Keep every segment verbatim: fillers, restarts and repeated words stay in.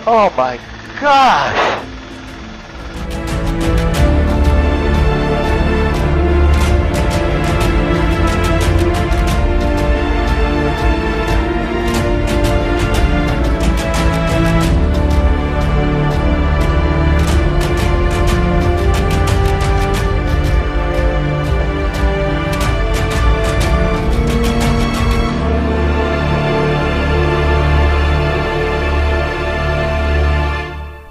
Oh my gosh!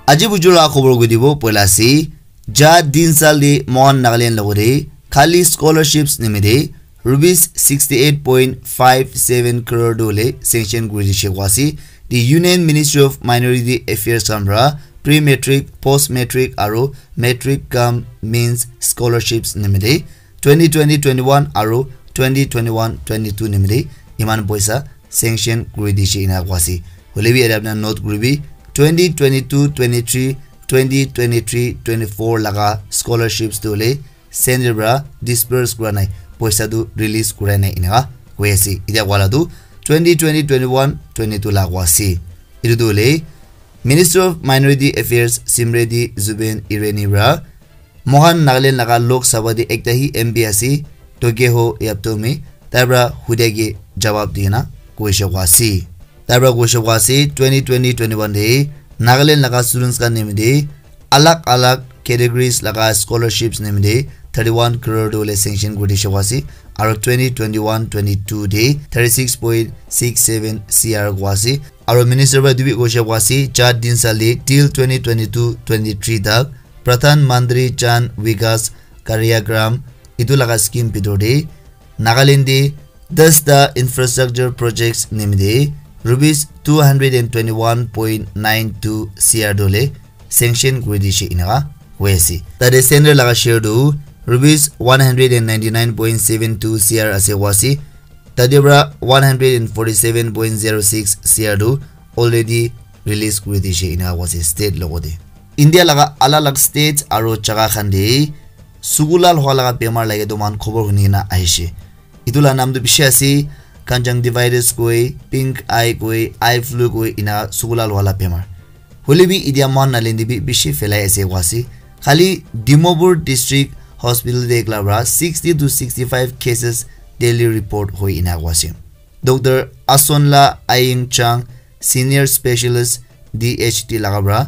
Aji bujur la khobor koi dibo poila ase. Ja din sal de Mohan Nagaland logore khali scholarships nimide rupees sixty eight point five seven crore dole sanction kuri dishe koa ase. The Union Ministry of Minority Affairs khan pra pre-matric, post-matric aro matric cum means scholarships nimide twenty twenty twenty-one aro twenty twenty-one twenty-two nimide iman poisa sanction kuri dishe ena koa ase. Hoile bi yate apna note kuribi twenty twenty-two twenty-three, twenty twenty-three twenty-four laga scholarships tu hole center pra disperse kura nai, poisa tu release kura nai eneka koi ase. Etia koa la tu twenty twenty twenty-one twenty-two la koa ase. Etu tu hole Minister of Minority Affairs Simreti Zubeen Irani pra Mohan Nagaland laga Lok Sabha te ekta hi M P ase, Tokeho Yaptome, tai pra hudia ke jawab di kena koishe koa ase. Tai pra koishe koa ase, twenty twenty twenty-one te Nagaland laga students khan nimite alag alag categories laga scholarships nimite thirty-one crore tu hole sanction kuri dishe koa ase, aro twenty twenty-one twenty-two te thirty-six point six seven C R koa ase, aro minister pra etu bi koishe koa ase, char din sal te till twenty twenty-two twenty-three tak Pradhan Mantri Jan Vikas Karyagram etu laga scheme bitor te Nagaland te dasta infrastructure projects nimite rupees two hundred and twenty-one point nine two C R tu hole sanction kuri dishe eneka koi ase. Tate center laga share tu rupees one hundred and ninety-nine point seven two C R ase koa ase. Tate pra one hundred and forty-seven point zero six C R tu already release kuri dishe eneka koa ase state logote. India laga alag alag states aro jaga khan te suku lal hua laga bemar lage tu moikhan khobor huni kena ahishe. Etu la naam tu bishi ase, conjunctivitis koi, pink eye koi, eye flu koi, ena suku lal hua la bemar. Hoile bi etia Mohan Nagaland te bi bishi phelai ase koa ase. Khali Dimapur District Hospital te ekla pra sixty to sixty-five cases daily report hoi ena koa ase. Doctor Asonla Aying Chang, Senior Specialist D H T laga pra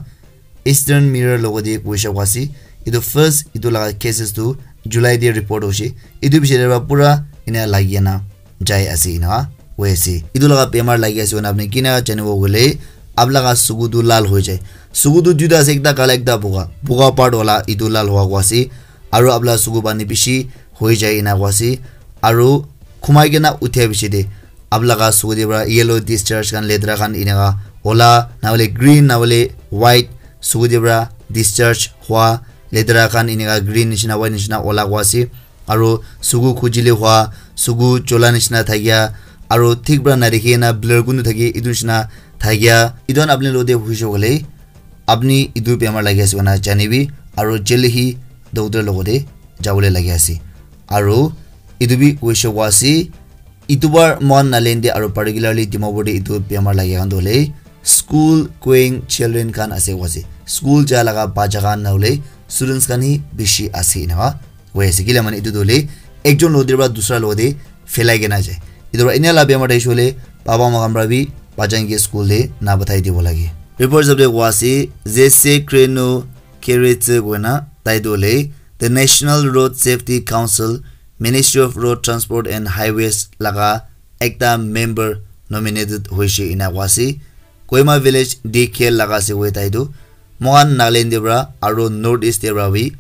Eastern Mirror logote koishe koa ase. Etu first, etu laga cases tu July te report hoishe. Etu piche te pra pura ena lagi kena jai ase ena koi ase. Etu laga bemar lagi ase koina apni kina janibo koile, apni laga suku tu lal hoi jai. Suku tu duita ase, ekta kala, ekta boga. Boga part wala etu lal hua koa ase. Aro apni laga suku pani bishi hoi jai ena koa ase. Aro khumai kena uthia piche te apni laga suku te pra yellow discharge khan, letera khan eneka ola, na hoile green, na hoile white, suku te pra discharge hua letera khan eneka green nishina, white nishina ola koa ase. Aro suku khujile hua, suku chola nishina thakia, aro thik pra nadikhi kena blur kunu thake, etu nishina thakia. Etu khan apni logote hoishe koile, apni etu bemar lagi ase koina janibi, aro jaldi hi doctor logote jabole lagi ase. Aro etu bi koishe koa ase, etu bar Mohan Nagaland te aro particularly Dimapur te etu bemar lagi khan tu hole school going children khan ase koa ase. School ja laga bacha khan na hoile students khan hi bishi ase eneka koi ase. Kila mane etu tu hole ekjon logote pra dusra logote phelai kena jai. Etu pra enia la bemar thakishi koile papa ma khan pra bi bacha khan ke school te na pathai dibo lage. Report hisab te koa ase, Zese Kreno Keretse koina tai tu hole the National Road Safety Council, Ministry of Road Transport and Highways laga ekta member nominated hoishe ena koa ase. Kohima Village D K L laga ase koi tai tu. Mohan Nagaland te pra aro North East te pra bi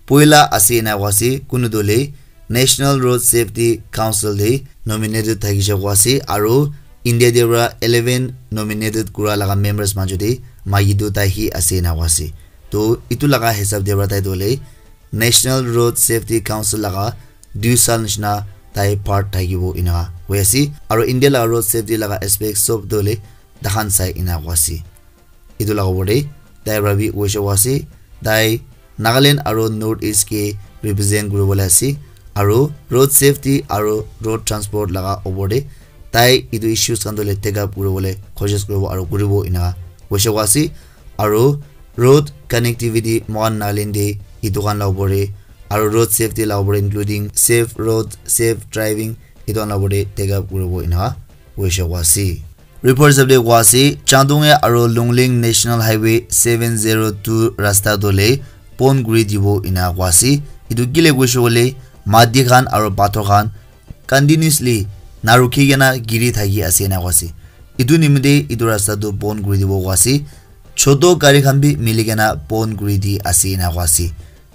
poila ase ena koa ase. Kunu tu hole National Road Safety Council te nominated thakishe koa ase. Aro India te pra eleven nominated kura laga members majo te maiki tu tai hi ase ena koa ase. To etu laga hisab te pra tai tu hole National Road Safety Council laga dui sal nishina tai part thakibo ena koi ase. Aro India laga road safety laga aspect sob tu hole takhan sai ena koa ase. Etu laga opor te tai pra bi koishe koa ase, tai Nagaland aro North East ke represent kuribole ase, aro road safety aro road transport laga opor te tai etu issues khan tu hole take up kuribole koshish kuribo aro kuribo ena koishe koa ase. Aro road connectivity moikhan Nagaland te etu khan la opor te, aro road safety la opor te, including safe road, safe driving, etu khan la opor te take up kuribo ena hoishe koa ase. Report hisab te koa ase, Changdonge aro Lungling National Highway seven zero two rasta tu le pon kuri dibo ena koa ase. Etu kile koishe koile, mati khan aro pathor khan continuously narukhi kena giri thaki ase ena koa ase. Etu nimite etu rasta tu pon kuri dibo koa ase. Choto gari khan bi mili kena pon kuri di ase ena koa ase.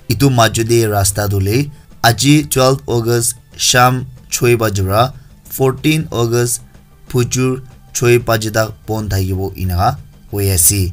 Etu majo te rasta tu le aji twelve August sham choi baji pra fourteen August phujur choi baji tak pon thakibo ena koi ase.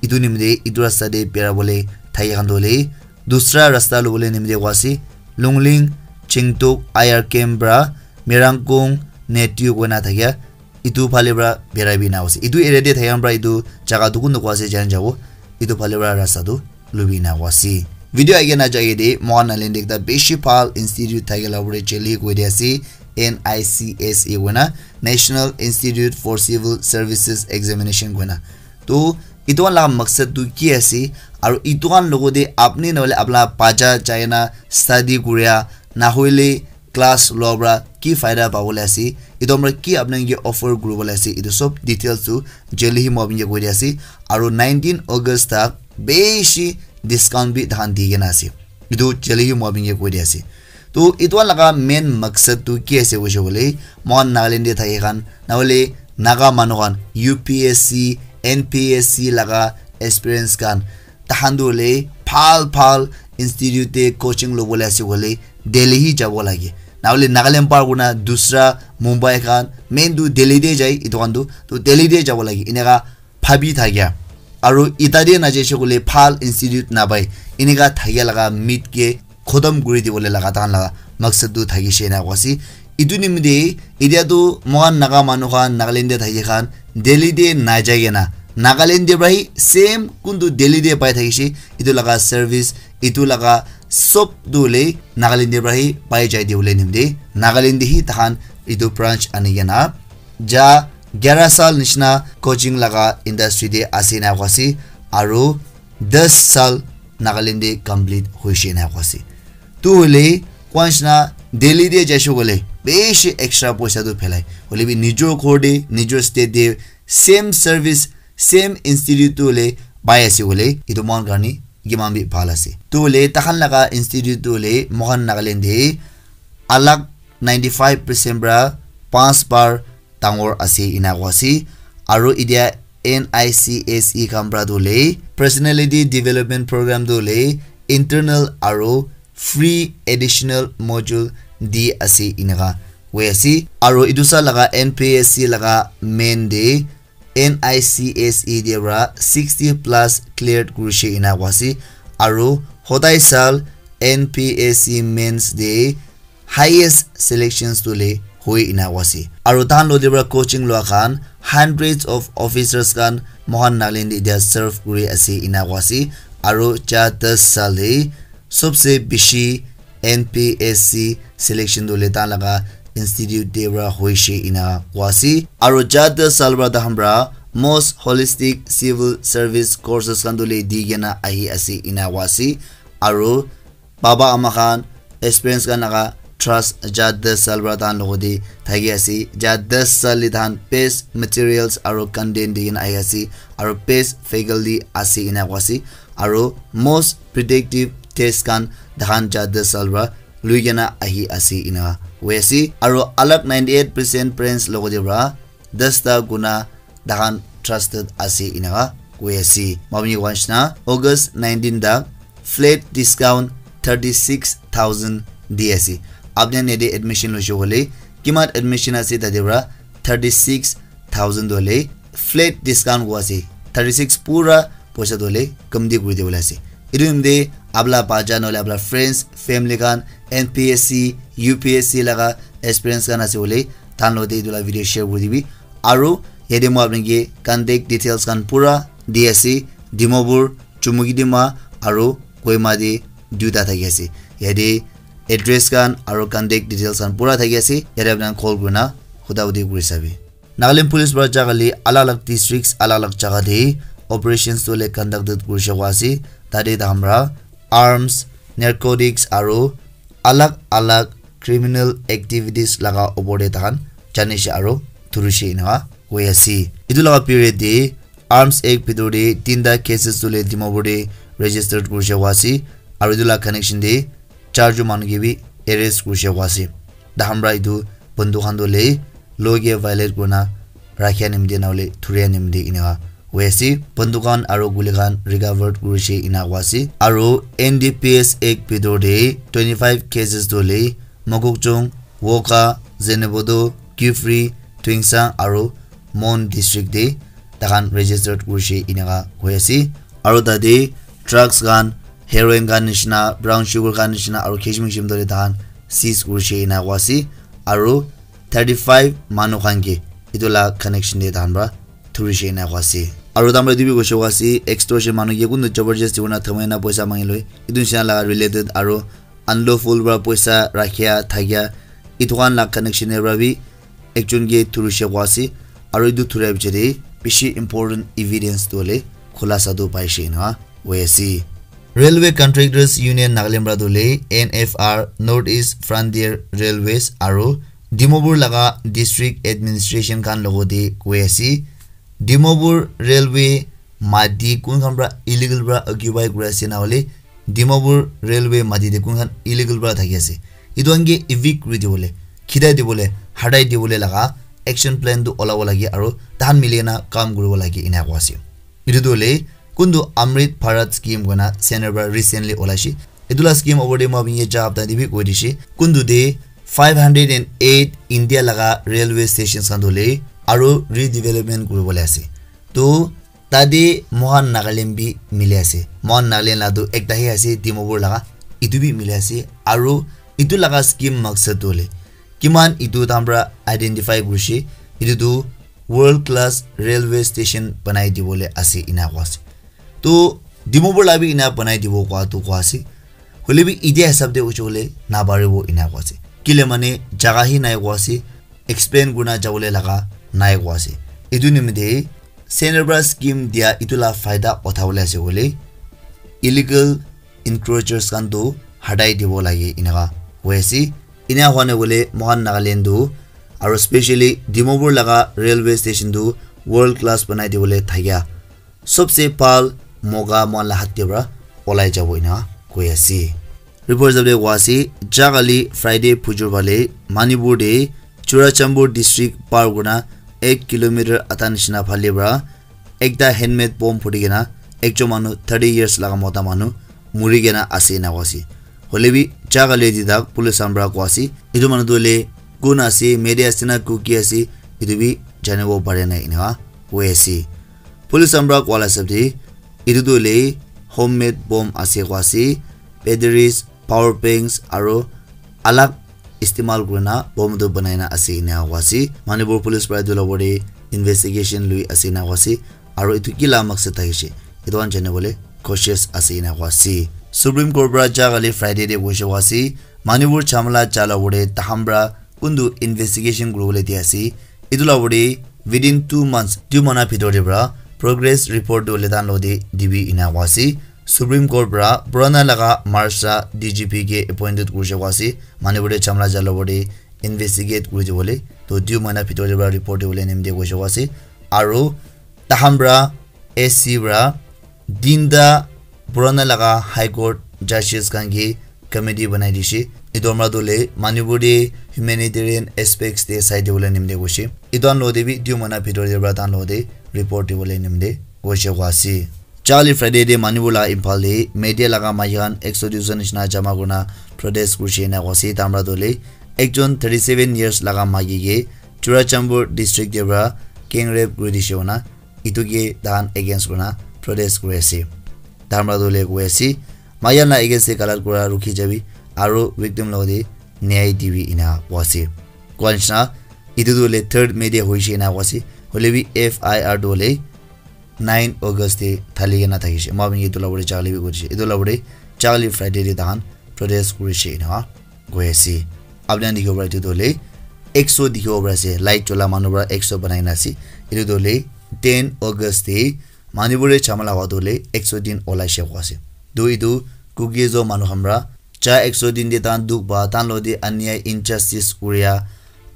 Etu nimite etu rasta te bera bole thaki khan tu le dusra rasta lobole nimite koa ase. Lungling, Chingtok, I R camp pra Merangkong, Netiu koina thakia etu phale pra berai bi na ase. Etu area te thaka pra etu jaga tu kun koa ase jan jabo. Etu phale pra rasta tu lubi na koa ase. Video age na jage de moikhan Nagaland te ekta bishi bhal institute thake la pore Delhi koi de ase, N I C S E koina, National Institute for Civil Services Examination koina. To etu khan la maksad tu ki ase, aru etu khan logo de apni nohole apna bacha jai na study kuria, na hoile class loa pra ki faida pabole ase, etu pra ki apni ke offer kuribole ase, etu sob details tu jaldi hi moi apni ke koi di ase. Aru nineteen August tak bishi discount bi tahan di kena ase, etu jaldi hi moi apni ke koi di ase. To etu laga main maksad tu ki ase koishe koile, moikhan Nagaland te thake khan, na hoile Naga manu khan, U P S C, N P S C laga aspirants khan, tahan tu hoile bhal bhal institute te coaching lobole ase koile Delhi hi jabo lage. Na hoile Nagaland par kurna dusra Mumbai khan, main tu Delhi te jai, etu khan tu, to Delhi te jabo lage. Eneka bhabi thakia. Aru eta te najaise koile bhal institute napai. Eneka thakia laga mit ke khotom kuri dibole laga tahan laga maksad tu thakishe ena koa ase. Etu nimite etia tu moikhan Naga manu khan Nagaland te thaki khan Delhi te najai kena Nagaland te pra hi same kuntu Delhi te pai thakishe, etu laga service, etu laga sob tu hoile Nagaland te pra hi pai jai dibole nimite Nagaland te hi tahan etu branch ani kena ja gyara sal nishina coaching laga industry te ase ena koa ase, aru das sal Nagaland te complete hoishe ena koa ase. Tu hoile koa nishina Delhi te jaishe koile bishi extra poisa tu phelai. Hoile bi nijor ghor te, nijor state te same service, same institute tu hoile pai ase koile, etu moikhan karne kiman bi bhal ase. Tu hoile tahan laga institute tu hoile moikhan Nagaland te alag ninety five percent pra panch bar dangor ase ena koa ase. Aru etia N I C S E khan pra tu hoile personality development program tu hoile internal aru free additional module di ase eneka koi ase. Aru etu sa laga N P S C laga main te N I C S E te pra sixty plus cleared kurishe ena koa ase. Aru hodai sal N P S C mains te highest selections tu le hoi ena koa ase. Aru tahan lo te pra coaching lua khan hundreds of officers khan moikhan Nagaland te etia serve kuri ase ena koa ase. Aru ja das sal te sobse bishi N P S C selection tu hoile tahan laga institute te pra hoishe ena koa ase. Aru ja das sal pra tahan pra most holistic civil service courses khan tu hoile di kena ahi ase ena koa ase. Aru baba ama khan, experience khan laga trust ja das sal pra tahan logo te thaki ase. Ja das sal te tahan best materials aru content di kena ahi ase. Aru best faculty ase ena koa ase. Aru most predictive test khan tahan ja das sal pra lui kena ahi ase ena koi ase. Aru alag ninety eight percent parents logo te pra das ta guna tahan trusted ase ena koi ase. Mami wanshna August nineteen tak flat discount thirty six thousand di ase. Apni yate admission loishe koile kiman admission ase tate pra thirty six thousand tu hoile flat discount koi ase. Thirty six pura poisa tu hoile kamti kuri dibole ase. Etu nimite apna bacha nohole apna friends, family khan N P S C, U P S C laga experience khan ase koile tahan logote etu la video share kuri dibi. Aru yate moi apni ke contact details khan pura di ase. Dimapur, Chumukidima aru Kohima te duita thaki ase. Yate address khan aru contact details khan pura thaki ase. Yate apni khan call kurina huda hudi kuri sabi. Nagaland Police para jaga le alag alag districts, alag alag jaga te operations tu le conducted kurishe kua ase. Tate tahan pra arms, narcotics aru alag alag criminal activities laga opor te tahan janishe aru thurishe enika koi ase. Etu laga period te Arms Act bhitor te tinta cases tu le Dimapur te registered kurishe kua ase aru etu la connection te charjon manu ke bi arrest kurishe kua ase. Tahan pra etu banduk khan tu le law ke violate kurina rakhia nimite nahole thuria nimite enika koi ase. Banduk khan aru guli khan recovered kurishe enika koi ase. Aru N D P S Act bhitor te twenty five cases tu le Mokokchung, Wokha, Zhenheboto, Kiphire, Tuensang aru Mon district te takhan registered kurishe enika koi ase. Aru tate drugs khan, heroin khan nishina, brown sugar khan nishina aru kishim kishim dole takhan seize kurishe enika koi ase. Aru thirty five manu khan ke etu la connection te tahan pra thurishe enika koi ase. Aru tahan pra etu bi koishe koi ase, extortion manu ke kuntu jabardast kurina thamai na poisa mangi loi. Etu nishina laga related aru unlawful pra poisa rakhia thakia etu khan la connection te pra bi ekjon ke thurishe koi ase. Aru etu thuria piche te bishi important evidence tu hoile khulasa tu paishe enika koi ase. Railway Contractors Union Nagaland pra tu le N F R, North East Frontier Railways aru Dimapur laga district administration khan logote koi ase. Dimapur Railway mati kun khan pra illegal pra occupy kuri ase nahole Dimapur Railway mati te kun khan illegal pra thaki ase, etu khan ke evict kuri dibole, khidai dibole, hatai dibole laga action plan tu olabo lage aru tahan mili kena kam kuribo lage enika koi ase. Etu tu hoile kuntu Amrit Bharat scheme koina center pra recently olaishe. Etu la scheme opor te moi apni ke ja hapta te bi koi dishe. Kuntu te five hundred and eight India laga railway stations khan tu hoile aru redevelopment kuribole ase. To tate mohan Nagaland bi mili ase. Mohan Nagaland la tu ekta he ase Dimapur laga. Etu bi mili ase. Aru etu laga scheme maksad tu hoile kiman etu tahan pra identify kurishe. Etu tu world class railway station banai dibole ase enika koi ase. To Dimapur la bi enika banai dibo koi tu koi ase. Hole bi etia hisab te hoishe koi le naparibo enika koi ase. Kile mane jaga he nai koi ase, expand kurina jabole laga nai koi ase. Etu nimite center pra scheme dia etu la faida uthabole ase koi le illegal encroachers khan tu hatai dibo lage enika koi ase. Enika hwa nai koi le mohan Nagaland tu aru specially Dimapur laga railway station tu world class banai dibole thakia sobse bhal moka mohan la hath te pra olai jabo enika koi ase. Report hisab te koi ase, ja kali Friday phujor phale Manipur te Churachandpur district par kurina ek kilometer ata nishina phale pra ekta handmade bomb phuti kena ekjon manu thirty years laga mota manu muri kena ase enika koi ase. Hole bi ja kali te tak police khan pra koi ase, etu manu tu hoile kun ase, Meitei ase na Kuki ase, etu bi janibo pare nai enika koi ase. Police khan pra koa la hisab te etu tu hoile homemade bomb ase koi ase. Batteries, power banks aru alag istemal kurina bomb tu banai na ase enika koi ase. Manipur police pra etu la opor te investigation lui ase enika koi ase. Aru etu ki la maksad thakishe etu khan janibole cautious ase enika koi ase. Supreme Court pra ja kali Friday te koishe koi ase, Manipur jhamala ja la opor te tahan pra kuntu investigation kuribole di ase. Etu la opor te within two months, two mahina bhitor te pra progress report tu hoile tahan logote dibi enika koi ase. Supreme Court pra purana laga Maharashtra D G P ke appointed kurishe koi ase. Manipur te jhamala ja la opor te investigate kuri dibole. To two mahina bhitor te pra report dibole nimite koishe koi ase. Aru tahan pra S C pra tinta purana laga High Court judges khan ke committee banai dishe. Etu para tu hoile Manipur te humanitarian aspects te sai dibole nimite koishe. Etu khan logote bi two mahina bhitor te para tahan logote report dibole nimite koishe koi ase. Charli Friday te Manipur laga Imphal te media laga maiki khan ekso duijon nishina jama kurina protest kurishe ena koi ase. Tahan para tu hoile ekjon thirty seven years laga maiki ke Churachandpur district te para gang rape kuri dishe koina etu ke tahan against kurina protest kuri ase. Tahan para tu hoile koi ase, maiki khan la against te galat kura rukhi jabi aru victim logote nyay dibi ena koi ase. Koi nishina etu tu hoile third May te hoishe ena koi ase. Hoile bi F I R tu hoile nine August te thali kena thakishe. Moi apni ke etu la opor te jale bi koi dishe. Etu la opor te Charli Friday te tahan protest kurishe ena koi ase. Apni khan dikhibo para etu tu hoile ekso dikhibo para ase. Light chola manu para ekso banai na ase. Etu tu hoile ten August te Manipur te jhamala hua tu hoile ek sho din olai she koi ase. Tu etu Kuki-Zo manu khan para cha ek sho din te tahan dukh pa, tahan lo te anyai injustice kuria,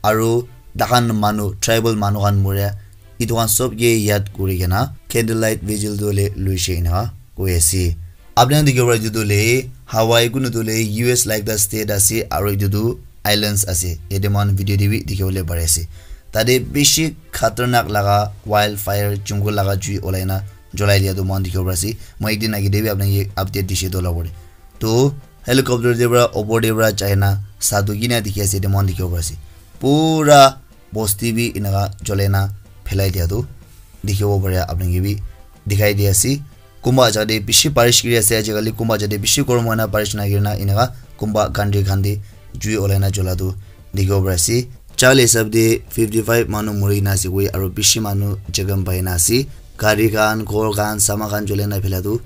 aru tahan manu, tribal manu khan muria, etu khan sob ke yad kuri kena candlelight vigil tu hoile lui she ena koi ase. Apni khan dikhibo para etu tu hoile Hawaii kunu tu hoile U S la ekta state ase aru etu tu islands ase. Yate moikhan video te bi dikhiwole pari ase. Tate bishi khatarnak laga wildfire jungle laga jui olai na jolai dia tu moikhan dikhibo pari ase. Moi ekdin age te bi apni khan ke update dishe tu olabo te. To helicopter te para opor te para jai na sa tu kina dikhi ase te moikhan dikhibo pari ase. Pura bosti bi enaka jolai na phelai dia tu dikhibo pare apni khan ke bi dikhai di ase. Kunba jaga te bishi barish kuri ase ajikali, kunba jaga te bishi gorom hoi na barish nahoi na enaka kunba country khan te jui olai na jola tu dikhibo pare ase. Chale hisab te fifty five manu muri na ase koi aru bishi manu jakham pai na ase. Gari khan, ghor khan, saman khan jolai na phela tu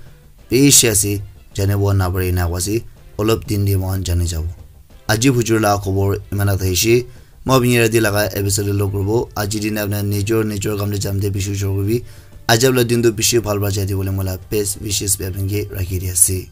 bishi ase, janibo napare ena koi ase, olop din te moikhan jani jabo. Aji bujur la khobor iman ta thakishi. Moi apni rati laga episode te log kuribo. Aji din apni nijor nijor kam te jam te bishi ujor kuribi. Ajab la din tu bishi bhal bhal jai dibole moi la best wishes bi apni ke rakhi di ase.